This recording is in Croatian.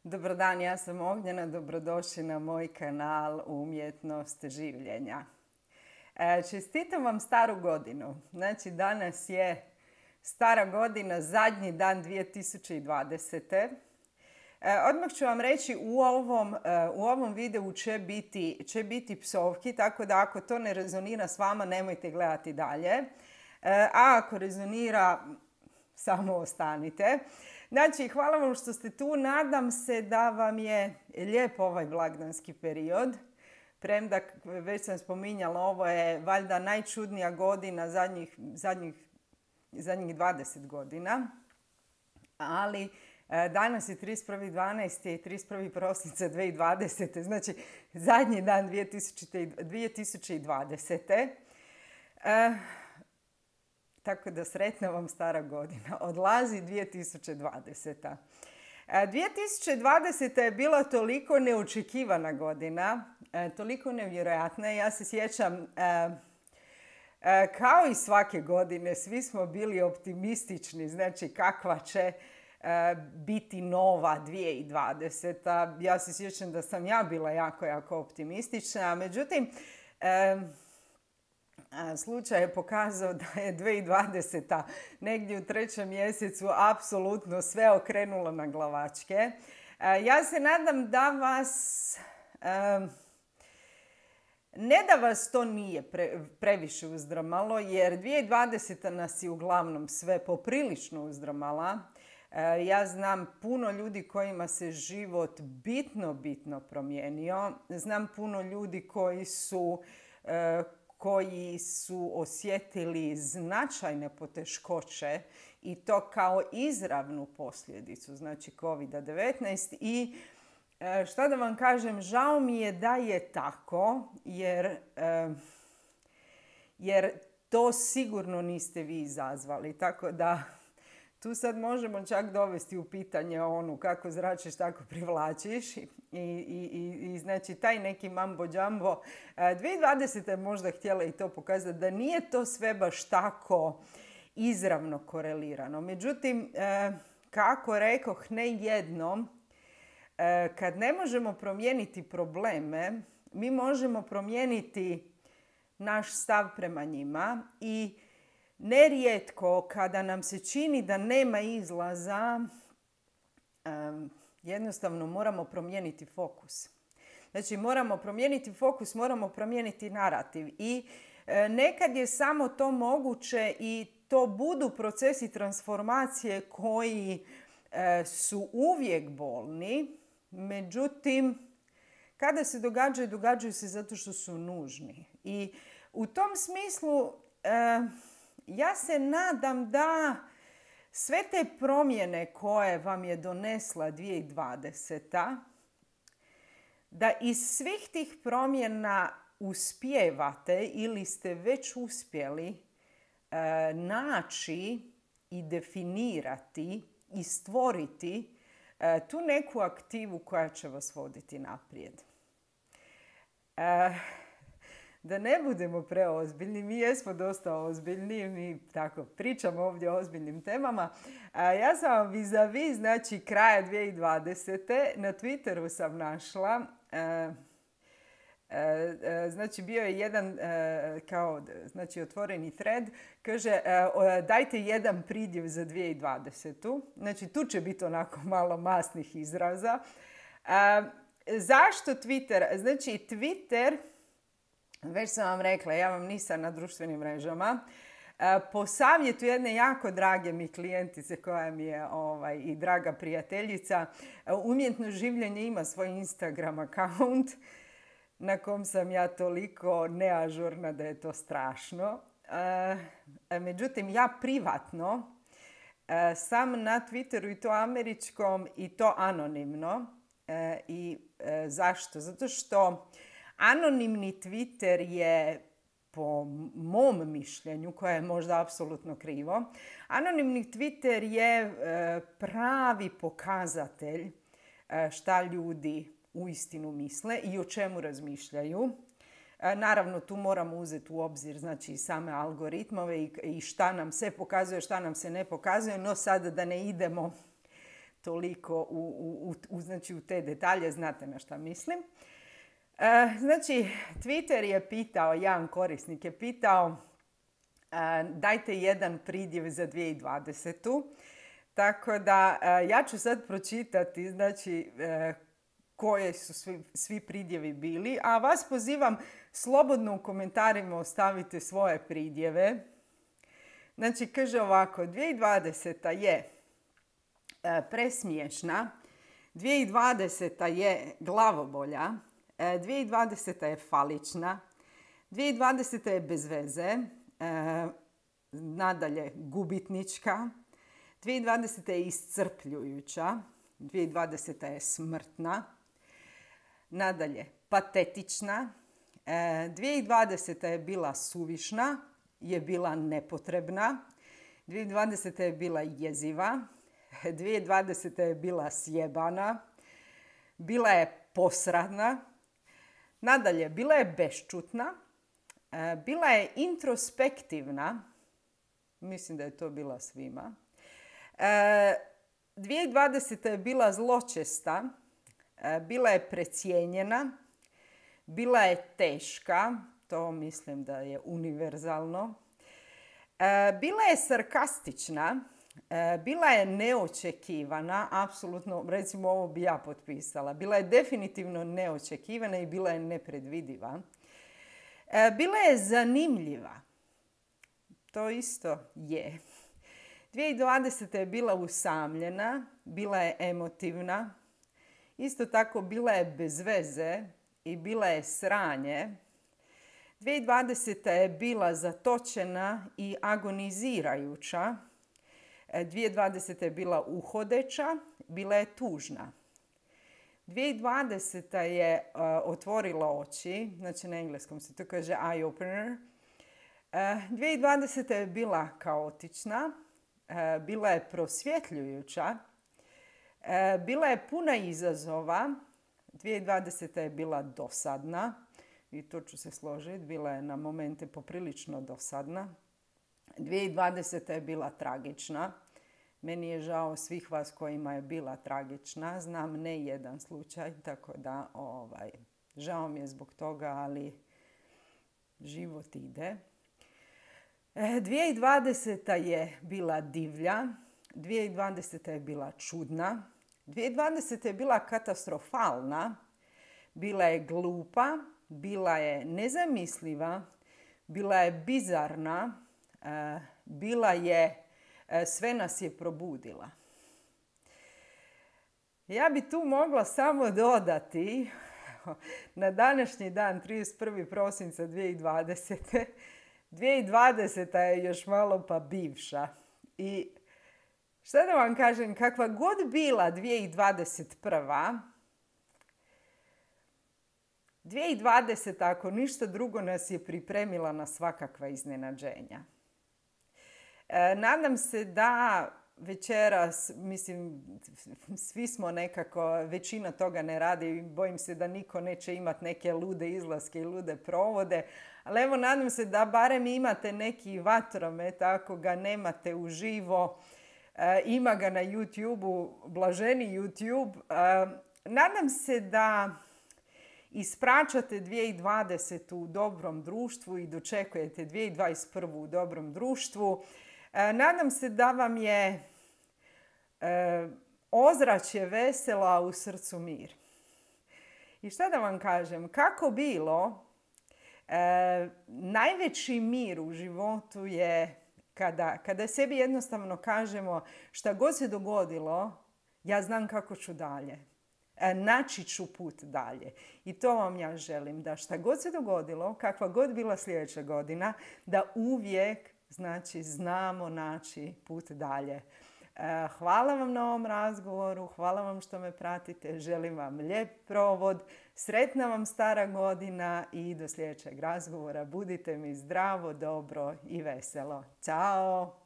Dobar dan, ja sam Ognjena, dobrodošli na moj kanal Umjetnost življenja. Čestitam vam staru godinu. Znači, danas je stara godina, zadnji dan 2020. Odmah ću vam reći, u ovom videu će biti psovki, tako da ako to ne rezonira s vama, nemojte gledati dalje. A ako rezonira, samo ostanite. Znači, hvala vam što ste tu. Nadam se da vam je lijep ovaj blagdanski period. Premda, već sam spominjala, ovo je valjda najčudnija godina zadnjih 20 godina. Ali danas je 31.12. i 31. prosinca 2020. Znači, zadnji dan 2020. Tako da sretna vam stara godina. Odlazi 2020. 2020. je bila toliko neočekivana godina, toliko nevjerojatna. Ja se sjećam, kao i svake godine, svi smo bili optimistični, znači kakva će biti nova 2020. Ja se sjećam da sam ja bila jako optimistična, međutim, slučaj je pokazao da je 2020. negdje u 3. mjesecu apsolutno sve okrenulo na glavačke. Ja se nadam da vas, ne da vas to nije previše uzdramalo, jer 2020. nas je uglavnom sve poprilično uzdramala. Ja znam puno ljudi kojima se život bitno promijenio. Znam puno ljudi koji su osjetili značajne poteškoće i to kao izravnu posljedicu, znači COVID-19. I šta da vam kažem, žao mi je da je tako, jer to sigurno niste vi izazvali. Tako da tu sad možemo čak dovesti u pitanje kako zračiš, tako privlačiš. I znači taj neki mambo jumbo. 2020. je možda htjela i to pokazati da nije to sve baš tako izravno korelirano. Međutim, kako rekoh, ne jednom, kad ne možemo promijeniti probleme, mi možemo promijeniti naš stav prema njima i nerijetko kada nam se čini da nema izlaza, jednostavno moramo promijeniti fokus. Znači, moramo promijeniti fokus, moramo promijeniti narativ. I nekad je samo to moguće i to budu procesi transformacije koji su uvijek bolni. Međutim, kada se događaju se zato što su nužni. I u tom smislu ja se nadam da sve te promjene koje vam je donesla 2020. Da iz svih tih promjena uspijevate ili ste već uspjeli naći i definirati i stvoriti tu neku aktivu koja će vas voditi naprijed. Da ne budemo preozbiljni, mi jesmo dosta ozbiljni, mi tako pričamo ovdje o ozbiljnim temama. Ja sam vam vis-a-vis, znači kraja 2020. na Twitteru sam našla, znači bio je jedan znači otvoreni thread, kaže dajte jedan pridjev za 2020. Znači tu će biti onako malo masnih izraza. Zašto Twitter? Znači Twitter, već sam vam rekla, ja vam nisam na društvenim mrežama. Po savjetu jedne jako drage mi klijentice koja mi je i draga prijateljica, Umjetno življenje ima svoj Instagram account na kom sam ja toliko neažurna da je to strašno. Međutim, ja privatno sam na Twitteru i to američkom i to anonimno. Zašto? Zato što anonimni Twitter je, po mom mišljenju, koje je možda apsolutno krivo, anonimni Twitter je pravi pokazatelj šta ljudi uistinu misle i o čemu razmišljaju. Naravno, tu moramo uzeti u obzir znači, same algoritmove i šta nam se pokazuje, šta nam se ne pokazuje, no sada da ne idemo toliko znači u te detalje, znate na šta mislim. Znači, Twitter je pitao, jedan korisnik je pitao, dajte jedan pridjev za 2020. Tako da ja ću sad pročitati, znači, koje su svi pridjevi bili, a vas pozivam slobodno u komentarima ostavite svoje pridjeve. Znači, kaže ovako, 2020. je presmiješna, 2020. je glavobolja, 2020. je falična, 2020. je bez veze, nadalje gubitnička, 2020. je iscrpljujuća, 2020. je smrtna, nadalje patetična, 2020. je bila suvišna, je bila nepotrebna, 2020. je bila jeziva, 2020. je bila sjebana, bila je posradna, nadalje bila je bešćutna, bila je introspektivna, mislim da je to bila svima, 2020. je bila zločesta, bila je precijenjena, bila je teška, to mislim da je univerzalno, bila je sarkastična, bila je neočekivana, apsolutno, recimo ovo bi ja potpisala, bila je definitivno neočekivana i bila je nepredvidiva. Bila je zanimljiva, to isto je. 2020. je bila usamljena, bila je emotivna, isto tako bila je bez veze i bila je sranje. 2020. je bila zatočena i agonizirajuća. 2020. je bila uhodeća, bila je tužna. 2020. je otvorila oči, znači na engleskom se to kaže eye opener. 2020. je bila kaotična, bila je prosvjetljujuća, bila je puna izazova. 2020. je bila dosadna i to ću se složiti, bila je na momente poprilično dosadna. 2020. je bila tragična. Meni je žao svih vas kojima je bila tragična. Znam ne jedan slučaj, tako da žao mi je zbog toga, ali život ide. 2020. je bila divlja, 2020. je bila čudna, 2020. je bila katastrofalna, bila je glupa, bila je nezamisliva, bila je bizarna, bila je, sve nas je probudila. Ja bi tu mogla samo dodati na današnji dan 31. prosinca 2020. 2020. je još malo pa bivša. I šta da vam kažem, kakva god bila 2021. 2020. ako ništa drugo nas je pripremila na svakakva iznenađenja. Nadam se da večeras, mislim, svi smo nekako, većina toga ne radi i bojim se da niko neće imati neke lude izlaske i lude provode, ali evo nadam se da barem imate neki vatromet, ako ga nemate uživo, ima ga na YouTube-u, blaženi YouTube. Nadam se da ispraćate 2020. u dobrom društvu i dočekujete 2021. u dobrom društvu. Nadam se da vam je ozračje veselo, a u srcu mir. I šta da vam kažem, kako bilo, najveći mir u životu je kada sebi jednostavno kažemo šta god se dogodilo, ja znam kako ću dalje. Naći ću put dalje. I to vam ja želim, da šta god se dogodilo, kakva god bila sljedeća godina, da uvijek znamo naći put dalje. Hvala vam na ovom razgovoru, hvala vam što me pratite, želim vam lijep provod, sretna vam stara godina i do sljedećeg razgovora. Budite mi zdravo, dobro i veselo. Ćao!